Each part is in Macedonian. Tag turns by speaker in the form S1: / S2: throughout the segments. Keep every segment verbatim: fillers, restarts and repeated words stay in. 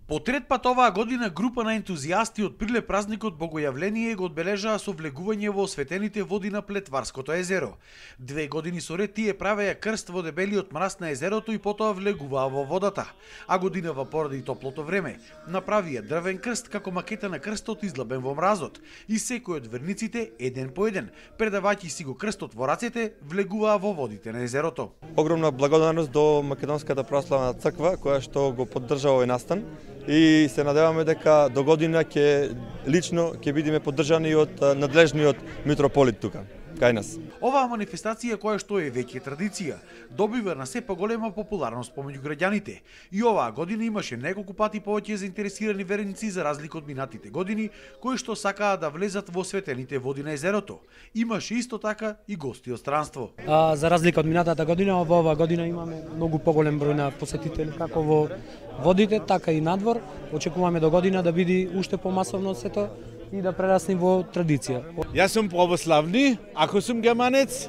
S1: По трет пат оваа година група на ентузијасти од Прилеп празникот Богојавление го одбележаа со влегување во осветените води на Плетварското езеро. Две години со ред тие правеа крст во дебелиот мраз на езерото и потоа влегуваа во водата. А годинава поради топлото време направија дрвен крст како макета на крстот излабен во мразот и секој од верниците еден по еден, предавајќи си го крстот во рацете, влегуваа во водите на езерото.
S2: Огромна благодарност до Македонската православна црква која што го поддржа овој настан и се надеваме дека до година ќе лично ќе бидеме поддржани од надлежниот митрополит тука кај нас.
S1: Оваа манифестација, која што е веќе традиција, добива на се поголема популарност помеѓу граѓаните и оваа година имаше неколку пати повеќе заинтересирани верници за разлика од минатите години кои што сакаа да влезат во осветените води на езерото. Имаше исто така и гости од странство.
S3: А, за разлика од минатата година, во оваа година имаме многу поголем број на посетители како во водите, така и надвор. Очекуваме до година да биде уште помасовно сето и да прерасне во традиција.
S4: Јас сум православни, ако сум германец,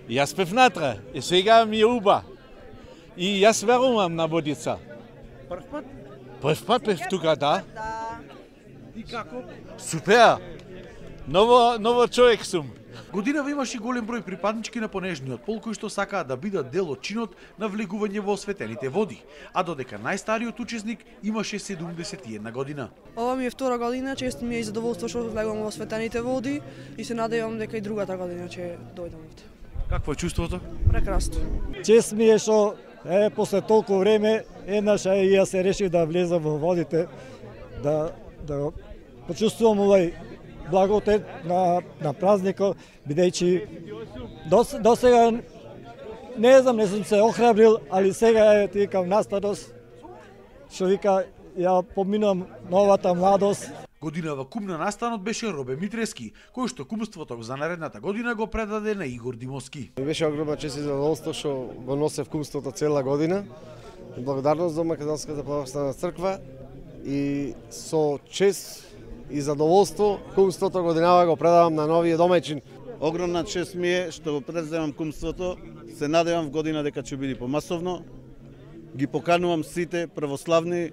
S4: јас пев натре, и сега ми е уба. И јас верувам на водица.
S1: Прв пат?
S4: Прв пат пев тука, да.
S1: И како?
S4: Супер! Ново, ново човек сум.
S1: Годинава имаше голем број припаднички на понежниот пол кои што сакаат да бидат дел од чинот на влегување во осветените води, а додека најстариот учесник имаше седумдесет и една година.
S5: Ова ми е втора година, често ми е задоволство што влегувам во осветените води и се надевам дека и другата година ќе дојдам овде.
S1: Какво е чувството?
S5: Прекрасно.
S6: Чест ми е што е после толку време еднаш и јас се решив да влезам во водите, да да почувствувам овај благодет на на празникот, бидејќи до, до сега не знам, не сум се охрабрил, али сега е тикам настадост, што вика ја поминувам новата младост.
S1: Годинава кум на настанот беше Робе Митрески, кој што кумството за наредната година го предаде на Игор Димовски.
S7: Беше огромна чест и задоволство што го носев кумството цела година. Благодарност до Македонската православна црква и со чест и задоволство кумството годинава го предавам на новиот домаќин.
S8: Огромна чест ми е што го преземам кумството. Се надевам в година дека ќе биде помасовно. Ги поканувам сите православни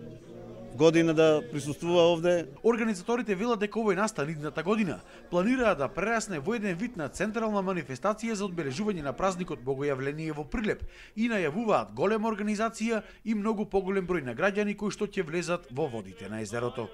S8: година да присуствува овде.
S1: Организаторите велат дека овој настан идната година планираат да прерасне во еден вид на централна манифестација за одбележување на празникот Богојавление во Прилеп и најавуваат голема организација и многу поголем број на граѓани кои што ќе влезат во водите на езерото.